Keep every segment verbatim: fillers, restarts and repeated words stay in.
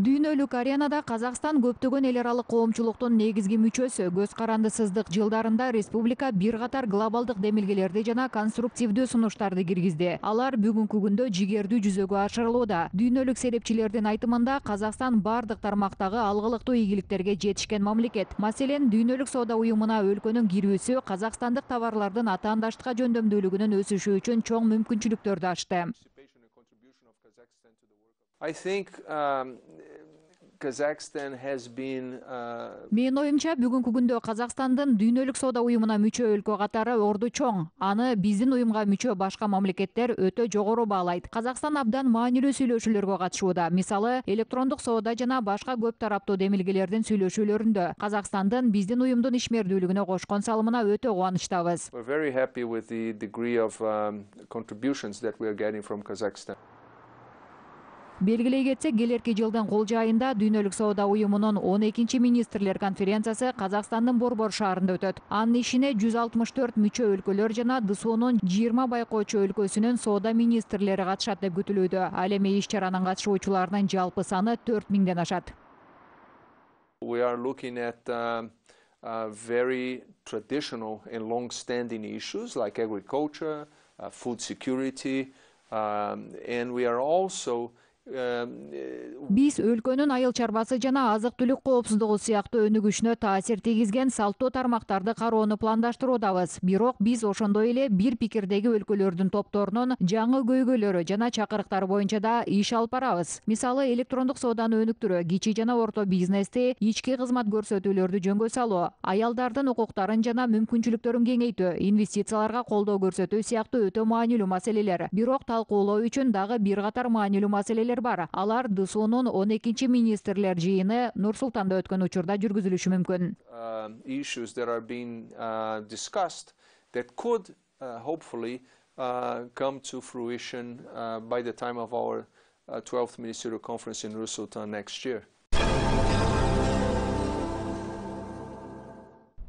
Дүйнөлүк аренада Казакстан көптөгөн эл аралык коомчулуктун негизги мүчөсү. Көз карандысыздык жылдарында республика бир катар глобалдык демилгелерди жана конструктивдүү сунуштарды киргизди. Алар бүгүнкү күндө жигердүү жүзөгө ашырылууда. Дүйнөлүк серепчилердин айтымында Казакстан бардык тармактагы алгылыктуу ийгиликтерге жетишкен мамлекет. Маселен, Дүйнөлүк соода уюмуна өлкөнүн кирүүсү казакстандык товарлардын атаандаштыкка жөндөмдүүлүгүнүн өсүшү үчүн чоң мүмкүнчүлүктөрдү ачты. I think um, Kazakhstan has been uh... Мен оюмча бүгүнкү күндө Казакстандын Дүйнөлүк соода уюмуна мүчө өлкө катары орду чоң. Аны биздин уюмга мүчө башка мамлекеттер өтө жогору баалайт. Казакстан абдан маанилүү сүйлөшүүлөргө катышууда. Мисалы, электрондук соода жана башка көп тараптуу демилгелердин сүйлөшүүлөрүндө Казакстандын биздин уюмдун ишмердүүлүгүнө кошкон салымына өтө кубанычтабыз. We're very happy with the degree of um, contributions that we are getting from Kazakhstan. Белгилей кетсек, келерки жылдын кулж айында Дүйнөлүк соода уюмунун он экинчи министрлер конференциясы Казакстандын Борбор шаарында өтөт. Анын ишине жүз алтымыш төрт мүчө өлкөлөр жана ДСУнун жыйырма байкоочу өлкөсүнүн соода министрлери катышат деп күтүлүүдө. Ал эми иш-чаранын катышуучуларынын жалпы саны төрт миңден ашат. We are looking at uh, uh, very traditional and long-standing issues like agriculture, uh, food security, um, and we are also Биз өлкөнүн айыл чарбасы жана азык-түлүк коопсуздугу сыяктуу өнүгүшүнө таасир тийгизген салттуу тармактарды кароону пландаштыруудабыз. Бирок биз ошондой эле бир пикирдеги өлкөлөрдүн топторунун жаңы көйгөйлөрү жана чакырыктары боюнча да иш алып барабыз. Мисалы, электрондук сооданы өнүктүрүү, кичи жана орто бизнести, ички кызмат көрсөтүүлөрдү жөнгө салуу, аялдардын укуктарын жана мүмкүнчүлүктөрүн кеңейтүү, инвестицияларга колдоо көрсөтүү сыяктуу өтө маанилүү маселелер. Бирок талкуулоо үчүн дагы бир катар маанилүү маселелер бар. Алар ДСУнун он экинчи министрлер жыйыны Нур-Султанда өткөн учурда жүргүзүлүшү мүмкүн. Issues that are being uh, discussed that could uh, hopefully uh, come to fruition uh, by the time of our uh, twelfth ministerial conference in Nur-Sultan next year.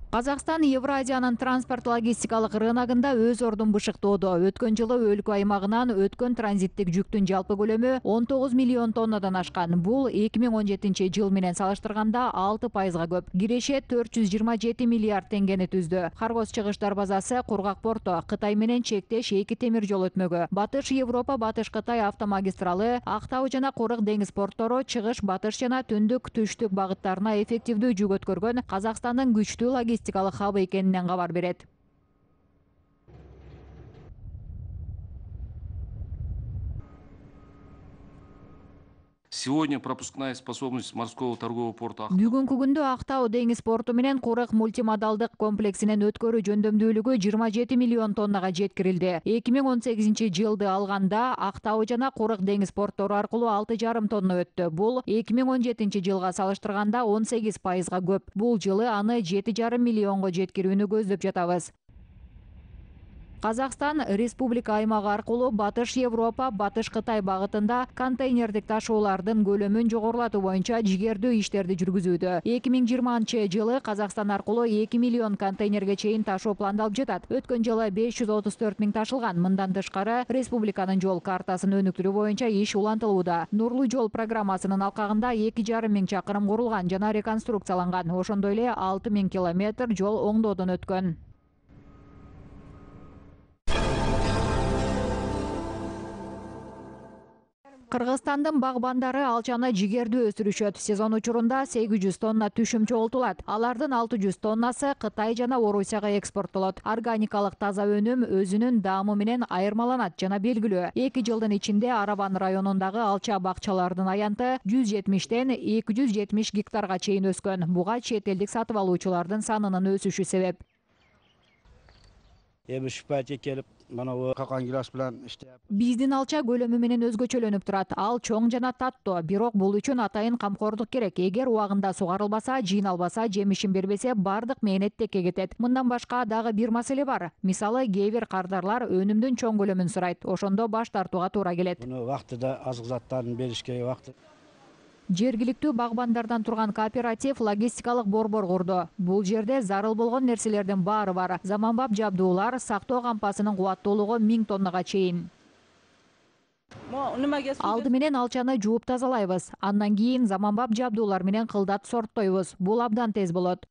Казакстан Евразиянын транспорт-логистикалык рыногунда өз ордун бышыктоодо. Өткөн жылы өлкө аймагынан өткөн транзиттик жүктүн жалпы көлөмү он тогуз миллион тоннадан ашкан. Бул эки миң он жетинчи жыл менен салыштырганда алты пайызга көп. Киреше төрт жүз жыйырма жети миллиард теңгени түздү. Каргоз чыгыш дарбазасы Кургак порту, Кытай менен чектеш эки темир жол өтмөгү, Батыш Европа, Батыш Кытай автомагистралы, Актау жана Курык деңиз порттору чыгыш батыш жана түндүк түштүк багыттарына эффективдүү жүк өткөргөн Казакстандын күчтүү логистикалык хабы экенинен кабар берет. Сегодня пропускная способность морского торгового порта. Бүгүнкү күндө Актау деңиз порту менен Курык мультимодалдык комплексинин өткөрүү жөндөмдүүлүгү жыйырма жети миллион тоннага жеткирилди. эки миң он сегизинчи жылды алганда Актау жана Курык деңиз порттору аркылуу алты жарым тонна өттү. Бул эки миң он жетинчи жылга салыштырганда он сегиз пайызга көп. Бул жылы аны жети жарым миллионго жеткирүүнү көздөп жатабыз. Казакстан республика аймагы аркылуу Батыш Европа, Батыш Кытай багытында контейнердик ташуулардын көлөмүн жогорулатуу боюнча жигердүү иштерди жүргүзүүдө. эки миң жыйырманчы жылы Казакстан аркылуу эки миллион контейнерге чейин ташуу пландалып жатат. Өткөн жылы беш жүз отуз төрт миң ташылган. Мындан тышкары республиканын жол картасын өнүктүрүү боюнча иш улантылууда. Нурлуу жол программасынын алкагында эки жарым миң чакырым курулган жана реконструкцияланган. Ошондой эле алты миң километр жол оңдоодон өткөн. Кыргызстандын багбандары алчаны жигердүү өстүрүшөт. Сезон учурунда сегиз жүз тонна түшүм чогултулат. Алардын алты жүз тоннасы Кытай жана Орусияга экспорттолот. Органикалык таза өнүм өзүнүн даамы менен айырмаланат жана белгилүү. эки жылдын ичинде Арабан районундагы алча бакчалардын аянты жүз жетимиштен эки жүз жетимиш гектарга чейин өскөн. Буга чет элдик сатып алуучулардын санынын өсүшү себеп. Эми шпатик келип, мына какан гилас менен иштеп. Биздин алча көлөмү менен өзгөчөлөнүп турат. Ал чоң жана таттуу, бирок бул үчүн атайын камкордук керек. Эгер убагында сугарылбаса, жыйналбаса, жемишин бербесе, бардык мээнет текке кетет. Мындан башка дагы бир маселе бар. Мисалы, кээ бир кардарлар өнүмдүн чоң көлөмүн сурайт. Ошондо баш тартууга туура келет. Муну вактында азык заттарын беришке вакыт. Жергиликтүү багбандардан турган кооператив логистикалык борбор курду. Бул жерде зарыл болгон нерселердин баары бар. Заманбап жабдуулар, сактоо кампасынын кубаттуулугу миң тоннага чейин. Алды менен алчаны жууп тазалайбыз. Андан кийин заманбап жабдуулар менен кылдат сорттойбуз. Бул абдан тез болот.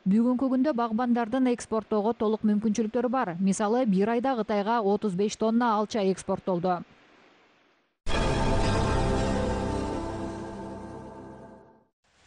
Бүгүнкү күндө багбандардын экспорттоого толук мүмкүнчүлүктөрү бар. Мисалы, бир айда Кытайга отуз беш тонна алча экспорттолду.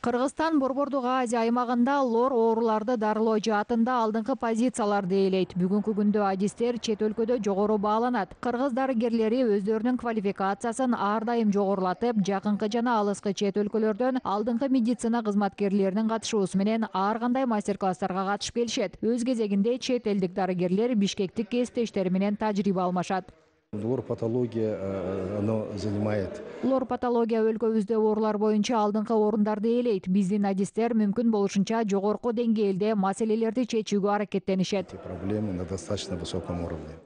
Кыргызстан Борбордук Азия аймагында лор ооруларды дарылоо жаатында алдыңкы позицияларды ээлейт. Бүгүнкү күндө адистер чет өлкөдө жогору бааланат. Кыргыз дарыгерлери өздөрүнүн квалификациясын ар дайым жогорулатып, жакынкы жана алыскы чет өлкөлөрдөн алдыңкы медицина кызматкерлеринин катышуусу менен ар кандай мастер-класстарга катышып келишет. Өз кезегинде чет элдик дарыгерлер бишкектик кесиптештери менен тажрыйба алмашат. Лор-патология оно занимает. Лор-патология өлкөбүздө оорулар боюнча алдыңкы орундарды ээлейт. Биздин адистер мүмкүн болушунча жогорку деңгээлде маселелерди чечүүгө аракеттенишет. Проблемы на достаточно высоком уровне.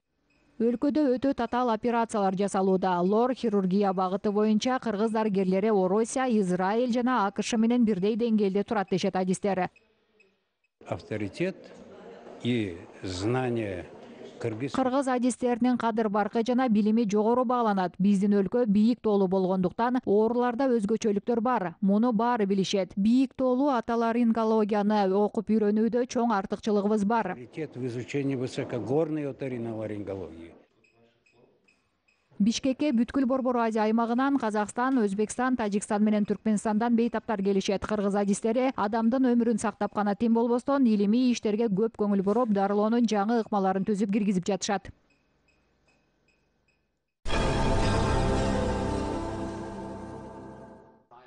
Өлкөдө өтө татаал операциялар жасалууда. Лор хирургия багыты боюнча кыргыз дарыгерлери Орусия, Израиль жана АКШ менен бирдей деңгээлде турат дешет адистер. Авторитет и знание Кыргыз адистеринин кадыр баркы жана билими жогору бааланат. Биздин өлкө бийик тоолуу болгондуктан ооруларда өзгөчөлүктөр бар. Муну баары билишет. Бийик тоолуу отоларингологияны окуп үйрөнүүдө чоң артыкчылыгыбыз бар. Авторитет в изучении высокогорной оториноларингологии. Бишкекке бүткүл Борбор Азия аймагынан Казакстан, Өзбекстан, Тажикстан менен Түркменистандан бейтаптар келишет. Кыргыз адистери адамдын өмүрүн сактап гана тим болбостон илимий иштерге көп көңүл буруп, дарылоонун жаңы ыкмаларын түзүп киргизип жатышат.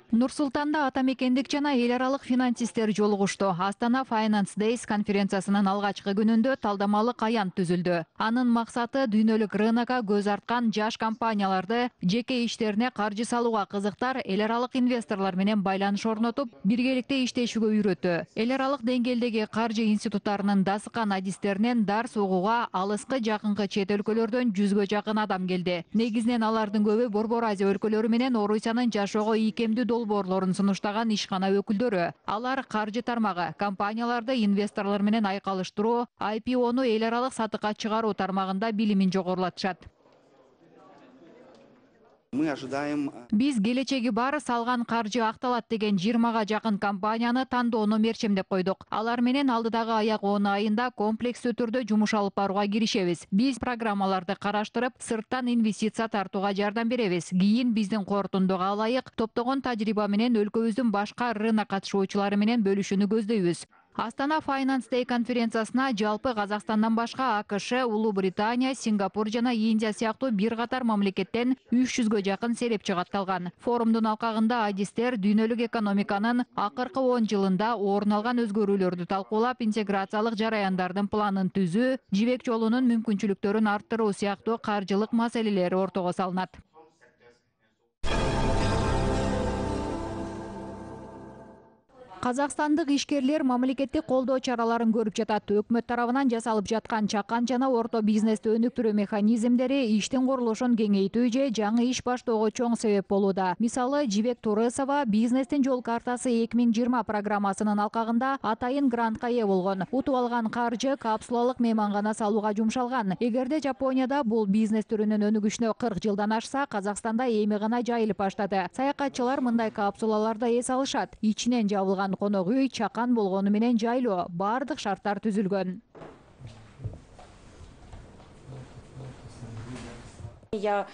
Нур-Султанда атамекендик жана эл аралык финансисттер жолугушту. Астана Finance Days конференциясынын алгачкы күнүндө талдамалык аянт түзүлдү. Анын максаты дүйнөлүк рынокко көз арткан жаш компанияларды жеке иштерине каржы салууга кызыктар эл аралык инвесторлор менен байланыш орнотуп, биргеликте иштешүүгө үйрөтүү. Эл аралык деңгээлдеги каржы институттарынын дасыкан адистеринен дарс угууга алыскы жакынкы чет өлкөлөрдөн жүзгө жакын адам келди. Негизинен алардын көбү Борбор Азия өлкөлөрү менен Орусиянын жашоого ийкемдүү долбоорлорун сунуштаган ишкана өкүлдөрү. Алар каржы тармагы, компанияларды инвесторлор менен айкалыштыруу, ай пи ону эл аралык сатыкка чыгаруу тармагында билимин жогорулатышат. Мы ожидаем... Биз келечеги бар салган каржы акталат деген жыйырмага жакын компанияны тандоону мерчемдеп койдук. Алар менен алдыдагы аяк он айында комплекстүү түрдө жумуш алып барууга киришебиз. Биз программаларды караштырып, сырттан инвестиция тартууга жардам беребиз. Кийин биздин корутундуга ылайык топтогон тажрыйба менен өлкөбүздүн башка рынок катышуучулары менен бөлүшүүнү көздөйбүз. Астана Finance Day конференциясына жалпы Казакстандан башка АКШ, Улуу Британия, Сингапур жана Индия сыяктуу бир катар мамлекеттен үч жүзгө жакын серепчи катталган. Форумдун алкагында адистер дүйнөлүк экономиканын акыркы он жылында орун алган өзгөрүүлөрдү талкуулап, интеграциялык жараяндардын планын түзүү, жибек жолунун мүмкүнчүлүктөрүн арттыруу сыяктуу каржылык маселелери ортого салынат. Казакстандык ишкерлер мамлекеттик колдоо чараларын көрүп жатат. Өкмөт тарабынан жасалып жаткан чакан жана орто бизнести өнүктүрүү механизмдери иштин курулушун кеңейтүү же жаңы иш баштоого чоң себеп болууда. Мисалы, Жибек Турысова бизнестин жол картасы эки миң жыйырма программасынын алкагында атайын грантка ээ болгон. Утуп алган каржы капсулалык меймангана салууга жумшалган. Эгерде Жапонияда бул бизнес түрүнүн өнүгүшүнө кырк жылдан ашса, Казакстанда эми гана жайылып баштады. Саякатчылар мындай капсулаларда эс алышат. Ичинен жабылган конок үй чакан болгону менен жайлоо, бардык шарттар түзүлгөн. Я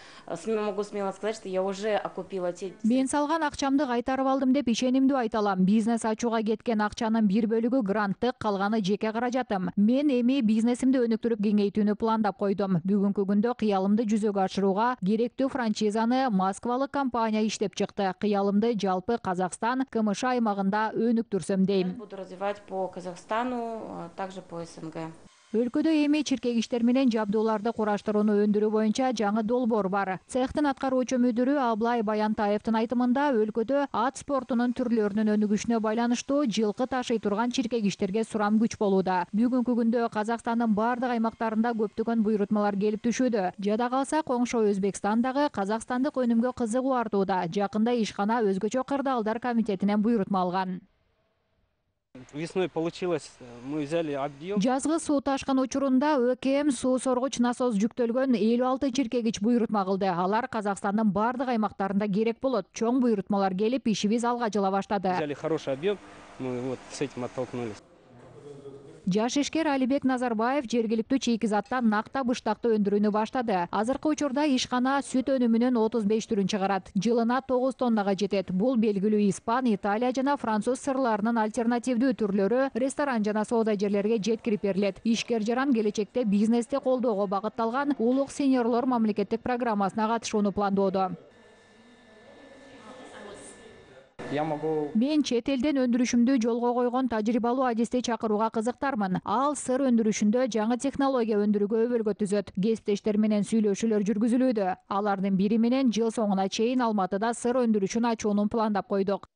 могу смело сказать, что я уже окупила те... Мен салган акчамды кайтарып алдым деп ишенимдүү айта алам. Бизнес ачууга кеткен акчанын бир бөлүгү гранттык, калганы жеке каражатым. Мен эми бизнесимди өнүктүрүп кеңейтүүнү пландап койдум. Бүгүнкү күндө кыялымды жүзөгө ашырууга керектүү франчизаны москвалык компания иштеп чыкты. Кыялымды жалпы Казакстан, КМШ аймагында өнүктүрсөм дейм. Буду развивать по Казахстану, также по СНГ. Өлкөдө эми чиркегиштер менен жабдууларды кураштырууну өндүрүү боюнча жаңы долбоор бар. Цехтин аткаруучу мүдүрү Аблай Баянтаевдин айтымында, өлкөдө ат спортунун түрлөрүнүн өнүгүшүнө байланыштуу жылкы ташый турган чиркегиштерге сурам күч болууда. Бүгүнкү күндө Казакстандын бардык аймактарында көптөгөн буйрутмалар келип түшүүдө. Жада калса, коңшу Өзбекстан дагы казакстандык өнүмгө кызыгуу артууда. Жакында ишкана өзгөчө кырдаалдар комитетинен буйрутма алган. Весной получилось, мы взяли объем. Жазгы суу ташкын учурунда ÖКМ суу соргуч насос жүктөлгөн элүү алты чиркегич буйрутма кылды. Алар Казакстандын бардык аймактарында керек болот. Чоң буйрутмалар келип, ишибиз алга жыла баштады. Взяли хороший объем, мы вот с этим оттолкнулись. Жаш ишкер Алибек Назарбаев жергиликтүү чейкизаттан накта быштакты өндүрүүнү баштады. Азыркы учурда ишкана сүт өнүмүнүн отуз беш түрүн чыгарат. Жылына тогуз тоннага жетет. Бул белгилүү испан, Италия жана француз сырларынын альтернативдүү түрлөрү ресторан жана соода жерлерге жеткирип берилет. Ишкер жаран келечекте бизнести колдоого багытталган улук сеньорлор мамлекеттик программасына катышууну пландоодо. Мен чет элден өндүрүшүмдү жолго койгон тажрыйбалуу адисти чакырууга кызыктармын. Ал сыр өндүрүшүндө жаңы технология өндүрүүгө өбөлгө түзөт. Кесиптештер менен сүйлөшүүлөр жүргүзүлүүдө. Алардын бири менен жыл соңуна чейин Алматыда сыр өндүрүшүн ачууну пландап койдук.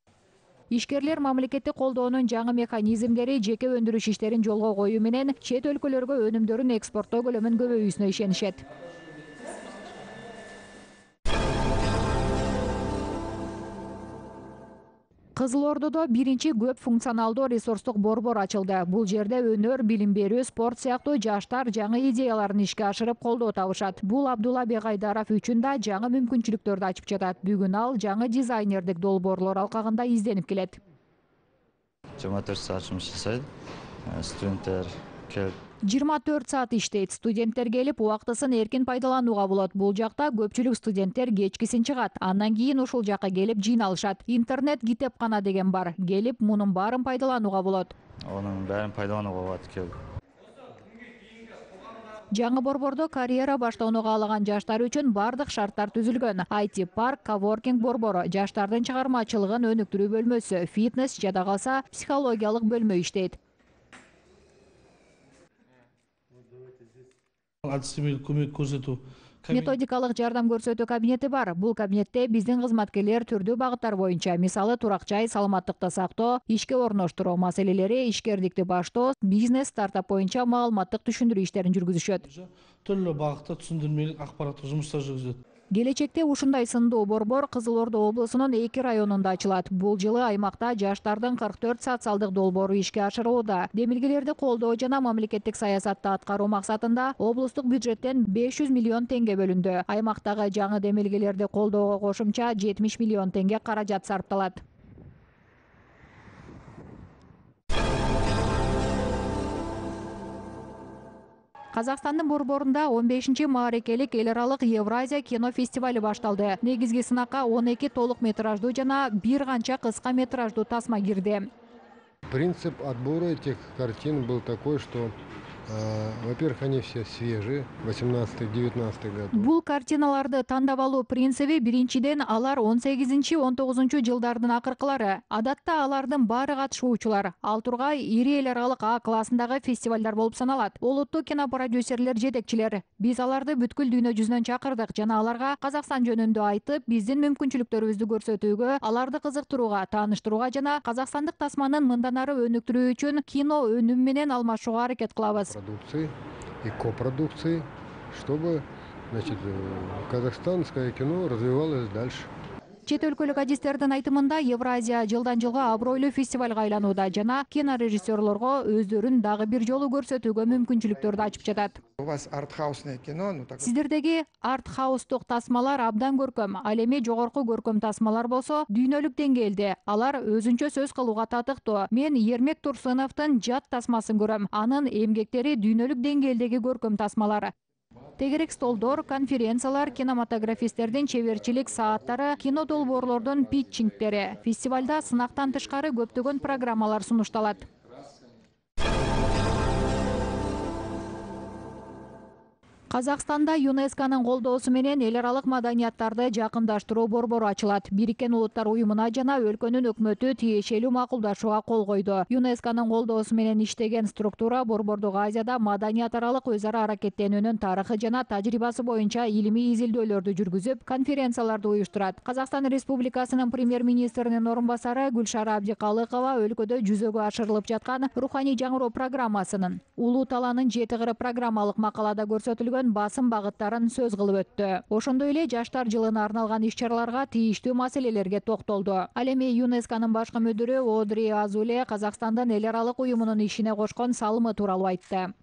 Ишкерлер мамлекеттик колдоонун жаңы механизмдери жеке өндүрүш иштерин жолго коюу менен чет өлкөлөргө өнүмдөрүн экспорттоо көлөмүн көбөйүүсүнө ишенишет. Кызыл Ордодо биринчи көп функционалдуу ресурстук борбор ачылды. Бул жерде өнөр, билим берүү, спорт сыяктуу жаштар жаңы идеяларын ишке ашырып колдоо табышат. Бул Абдулла Бегайдаров үчүн да жаңы мүмкүнчүлүктөрдү ачып жатат. Бүгүн ал жаңы дизайнердик долбоорлор алкагында изденип келет. жыйырма төрт саат жұмыс жасайды. Студенттер келип жыйырма төрт саат иштейт. Студенттер келип, убактысын эркин пайдаланууга болот. Бул жакта көпчүлүк студенттер кечкисин чыгат. Андан кийин ушул жакка келип жыйналышат. Интернет китепкана деген бар. Келип, мунун баарын пайдаланууга болот. Онун баарын пайдаланууга болот келип. Жаңы борбордо карьера баштоону каалаган жаштар үчүн бардык шарттар түзүлгөн. ай ти парк, коворкинг борбору, жаштардын чыгармачылыгын өнүктүрүү бөлмөсү, фитнес, жада калса психологиялык бөлмө иштейт. Адистемелик көмөк көрсөтүү Методикалык жардам көрсөтүү кабинети бар. Бул кабинетте биздин кызматкерлер түрдүү багыттар боюнча, мисалы турак-жай, саламаттыкты сактоо, ишке орноштуруу маселелери, ишкердикти баштоо, бизнес, стартап боюнча маалыматтык түшүндүрүү иштерин жүргүзүшөт. Түрлүү багытта түшүндүрмөлүк акпараттык жумуштар жүргүзөт. Келечекте ушундай сындуу борбор Кызыл Ордо облусунун эки районунда ачылат. Бул жылы аймакта жаштардын кырк төрт социалдык долбоору ишке ашырылууда. Демилгелерди колдоо жана мамлекеттик саясатты аткаруу максатында облустук бюджеттен беш жүз миллион теңге бөлүндү. Аймактагы жаңы демилгелерди колдоого кошумча жетимиш миллион теңге каражат сарпталат. Казакстандын борборунда он бешинчи маарекелик эл аралык Евразия кино фестивали башталды. Негизги сынакка он эки толук метраждуу жана бир канча кыска метраждуу тасма кирди. Принцип отбора этих картин был такой, что, э, во-первых, они все свежие, восемнадцатый девятнадцатый год. Бул картиналарды тандап алуу принциби биринчиден алар он сегизинчи он тогузунчу жылдардын акыркылары. Адатта алардын баары катышуучулар. Ал тургай ири эл аралык А классындагы фестивалдар болуп саналат. Олуттуу кинопродюсерлер жетекчилер. Биз аларды бүткүл дүйнө жүзүнөн чакырдык жана аларга Казакстан жөнүндө айтып, биздин мүмкүнчүлүктөрүбүздү көрсөтүүгө, аларды кызыктырууга, тааныштырууга жана казакстандык тасманын мындан ары өнүктүрүү үчүн кино өнүм менен алмашууга аракет кылабыз. Продукции и копродукции, чтобы, значит, казахстанское кино развивалось дальше. Чет өлкөлүк адистердин айтымында Евразия жылдан жылга абройлуу фестивалга айланууда жана кинорежиссерлорго өздөрүн дагы бир жолу көрсөтүүгө мүмкүнчүлүктөрдү ачып жатат. У вас артхаусное кино, ну так. Сиздердеги артхаустук тасмалар абдан көркөм. Ал эми жогорку көркөм тасмалар болсо дүйнөлүк деңгээлде. Алар өзүнчө сөз кылууга татыктуу. Мен Ермек Турсуновдун Жат тасмасын көрөм. Анын эмгектери дүйнөлүк деңгээлдеги көркөм тасмалар. Тегерек столдор, конференциялар, кинематографисттердин чеберчилик сааттары, кино долбоорлордун питчингтери. Фестивалда сынактан тышкары көптөгөн программалар сунушталат. Казакстанда ЮНЕСКОнун колдоосу менен эл аралык маданияттарды жакындаштыруу борбору ачылат. Бириккен Улуттар уюмуна жана өлкөнүн өкмөтү тиешелүү макулдашууга кол койду. ЮНЕСКонун колдоосу менен иштеген структура Борбордук Азияда маданият аралык өз ара аракеттенүүнүн тарыхы жана тажрыйбасы боюнча илимий изилдөөлөрдү жүргүзүп, конференцияларды уюштурат. Казакстан Республикасынын премьер-министринин орун басары Гүлшара Абдикалыкова өлкөдө жүзөгө ашырылып жаткан руханий жаңыруу программасынын Улуу талаанын жети кыры программалык макалада көрсөтүлгөн көптөгөн басым багыттарын сөз кылып өттү. Ошондой эле жаштар жылына арналган иш-чараларга тийиштүү маселелерге токтолду. Ал эми ЮНЕСКОнун башкы мүдүрү Одри Азуле Казакстандын эл аралык уюмунун ишине кошкон салымы тууралуу айтты.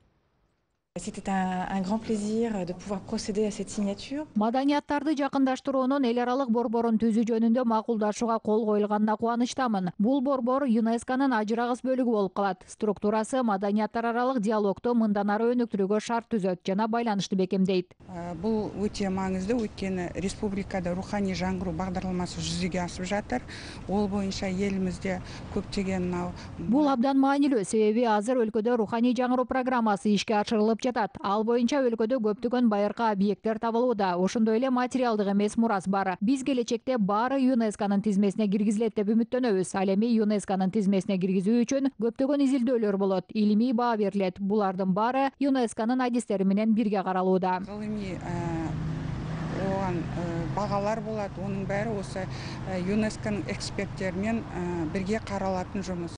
C'était un, un grand plaisir de pouvoir procéder à cette signature. Маданияттарды жакындаштыруунун эл аралык борборун түзүү жөнүндө макулдашууга кол коюлганына кубанычтамын. Бул борбор ЮНЕСКонун ажырагыс бөлүгү болуп калат. Структурасы маданияттар аралык диалогду мындан ары өнүктүрүүгө шарт түзөт жана байланышты бекемдейт. Бул өтө маңыздуу, өйткөнү республикада руханий жаңгыруу багдарламасы жүзүгө асып жатыр. Ол боюнча элибизде көптөгөн Бул абдан маанилүү, себеби азыр өлкөдө руханий жаңгыруу программасы ишке ашырылып жатат. Ал боюнча өлкөдө көптөгөн байыркы объекттер табылууда. Ошондой эле материалдык эмес мурас бар. Биз келечекте баары ЮНЕСКонун тизмесине киргизилет деп үмүттөнөбүз. Ал эми ЮНЕСКонун тизмесине киргизүү үчүн көптөгөн изилдөөлөр болот, илимий баа берилет. Булардын баары ЮНЕСКонун адистери менен бирге каралууда. Гылымий оған бағалар болот, онун баары осы ЮНЕСКонун эксперттери менен бирге каралатын жумуш.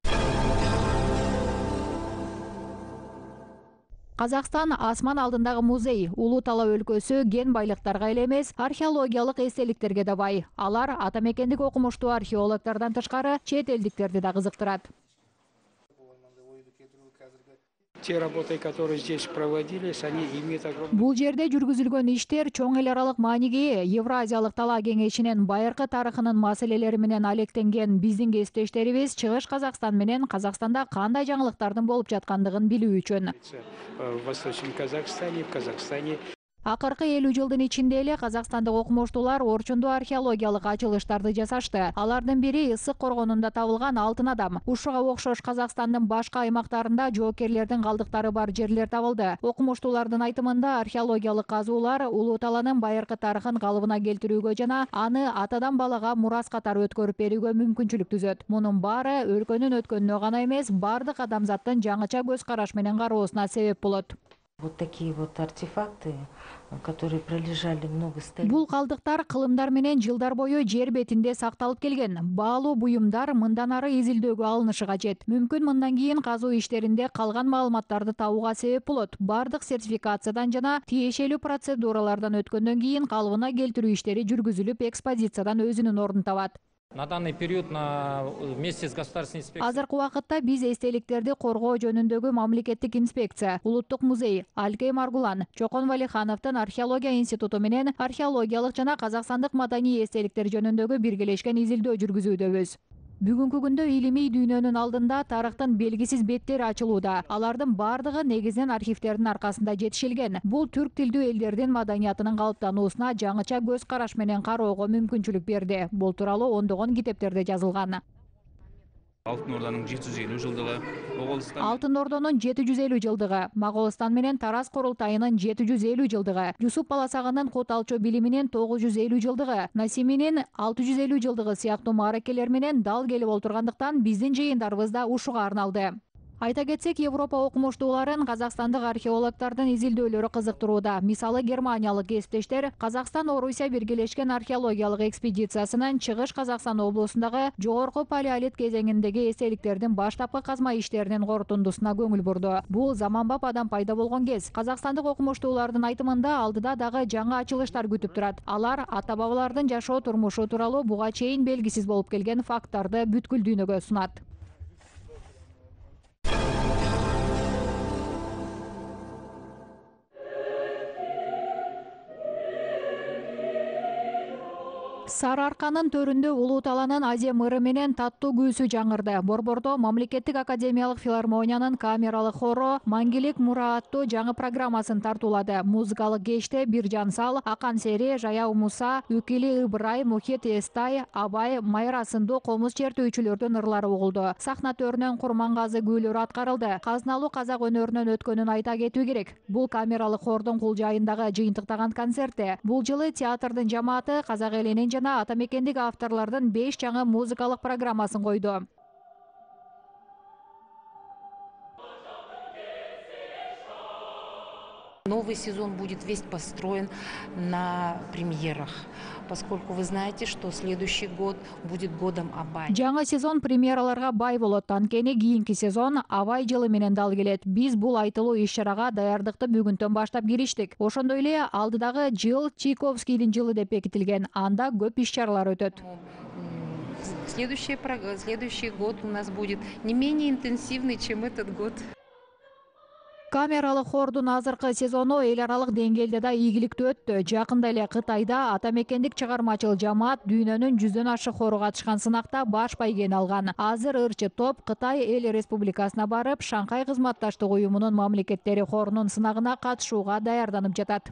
Казакстан асман алдындагы музей. Улуу Тала өлкөсү ген байлыктарга эле эмес, археологиялык эстеликтерге да бай. Алар ата мекендик окумуштуу археологтордон тышкары чет элдиктерди да кызыктырат. Те работы, которые здесь проводились, они имеют огромное... Бул жерде жүргүзүлгөн иштер чоң эл аралык мааниге ээ. Евразиялык талаа кеңешинин байыркы тарыхынын маселелери менен алектенген биздин кесиптештерибиз Чыгыш Казакстан менен Казакстанда кандай жаңылыктардын болуп жаткандыгын билүү үчүн. В Восточном Казахстане, в Казахстане. Акыркы элүү жылдын ичинде эле казакстандык окумуштуулар орчундуу археологиялык ачылыштарды жасашты. Алардын бири Ысык коргонунда табылган алтын адам. Ушуга окшош Казакстандын башка аймактарында жоокерлердин калдыктары бар жерлер табылды. Окумуштуулардын айтымында археологиялык казуулар Улуу Таланын байыркы тарыхын калыбына келтирүүгө жана аны атадан балага мурас катары өткөрүп берүүгө мүмкүнчүлүк түзөт. Мунун баары өлкөнүн өткөнүнө гана эмес, бардык адамзаттын жаңыча көз караш менен кароосуна себеп болот. Вот такие вот артефакты, которые пролежали много столетий. Бул калдыктар кылымдар менен жылдар бою жер бетинде сакталып келген. Баалуу буюмдар мындан ары изилдөөгө алынышы кажет. Мүмкүн мындан кийин казуу иштеринде калган маалыматтарды табууга себеп болот. Бардык сертификациядан жана тиешелүү процедуралардан өткөндөн кийин калыбына келтирүү иштери жүргүзүлүп, экспозициядан өзүнүн ордун табат. На данный период на вместе с государственной инспекцией. Азыркы убакытта биз эстеликтерди коргоо жөнүндөгү мамлекеттик инспекция, Улуттук музей, Алкей Маргулан, Чокон Валихановдун археология институту менен археологиялык жана казакстандык маданий эстеликтер жөнүндөгү биргелешкен изилдөө жүргүзүүдөбүз. Бүгүнкү күндө илимий дүйнөнүн алдында тарыхтын белгисиз беттери ачылууда. Алардын бардыгы негизинен архивтердин аркасында жетишилген. Бул түрк тилдүү элдердин маданиятынын калыптануусуна жаңыча көз караш менен кароого мүмкүнчүлүк берди. Бул тууралуу ондогон китептерде жазылган. Алтын Орданын жети жүз элүү жылдыгы, Моголстан Алтын Ордонун жети жүз элүү жылдыгы, Моголстан менен Тарас курултайынын жети жүз элүү жылдыгы, Жусуп Баласагынын кут алчу билиминин тогуз жүз элүү жылдыгы, Насиминин алты жүз элүү жылдыгы сыяктуу мааракелер менен дал келип олтургандыктан биздин жыйындарыбыз да ушуга арналды. Айта кетсек, Европа окумуштууларын казакстандык археологтордун изилдөөлөрү кызыктырууда. Мисалы, германиялык кесиптештер Казакстан Орусия биргелешкен археологиялык экспедициясынын Чыгыш Казакстан облусундагы жогорку палеолит кезеңиндеги эстеликтердин баштапкы казма иштеринин корутундусуна көңүл бурду. Бул заманбап адам пайда болгон кез. Казакстандык окумуштуулардын айтымында алдыда дагы жаңы ачылыштар күтүп турат. Алар ата бабалардын жашоо турмушу тууралуу буга чейин белгисиз болуп келген факттарды бүткүл дүйнөгө сунат. Сары Арканын төрүндө Улуу Таланын азем ыры менен таттуу күүсү жаңырды. Борбордо Мамлекеттик академиялык филармониянын камералык хоро Маңгилик мура аттуу жаңы программасын тартуулады. Музыкалык кечте Биржан Сал, Акан Сери, Жаяу Муса, Үкили Ыбырай, Мухит Эстай, Абай, Майра сындуу комуз чертүүчүлөрдүн ырлары угулду. Сахна төрүнөн Курмангазы күүлөрү аткарылды. Казыналуу казак өнөрүнөн өткөнүн айта кетүү керек. Бул камералык хордун кулжайындагы жыйынтыктаган концертте. Бул жылы театрдын жамааты казак элинин жана ата мекендик авторлордун беш жаңы музыкалык программасын койду. Новый сезон будет весь построен на премьерах, поскольку вы знаете, что следующий год будет годом Абай. Жаңы сезон премьераларга бай болот. Анткени кийинки сезон Абай жылы менен дал келет. Биз бул айтылуу иш-чарага даярдыкты бүгүндөн баштап кириштик. Ошондой эле алдыдагы жыл Чайковскийдин жылы деп бекитилген. Анда көп иш-чаралар өтөт. Следующий, следующий год у нас будет не менее интенсивный, чем этот год. Камералык хордун азыркы сезону эл аралык деңгээлде да ийгиликтүү өттү. Жакында эле Кытайда атамекендик чыгармачыл жамаат дүйнөнүн жүздөн ашык хору катышкан сынакта баш байгени алган. Азыр ырчы топ Кытай эл республикасына барып, Шанхай кызматташтык уюмунун мамлекеттери хорунун сынагына катышууга даярданып жатат.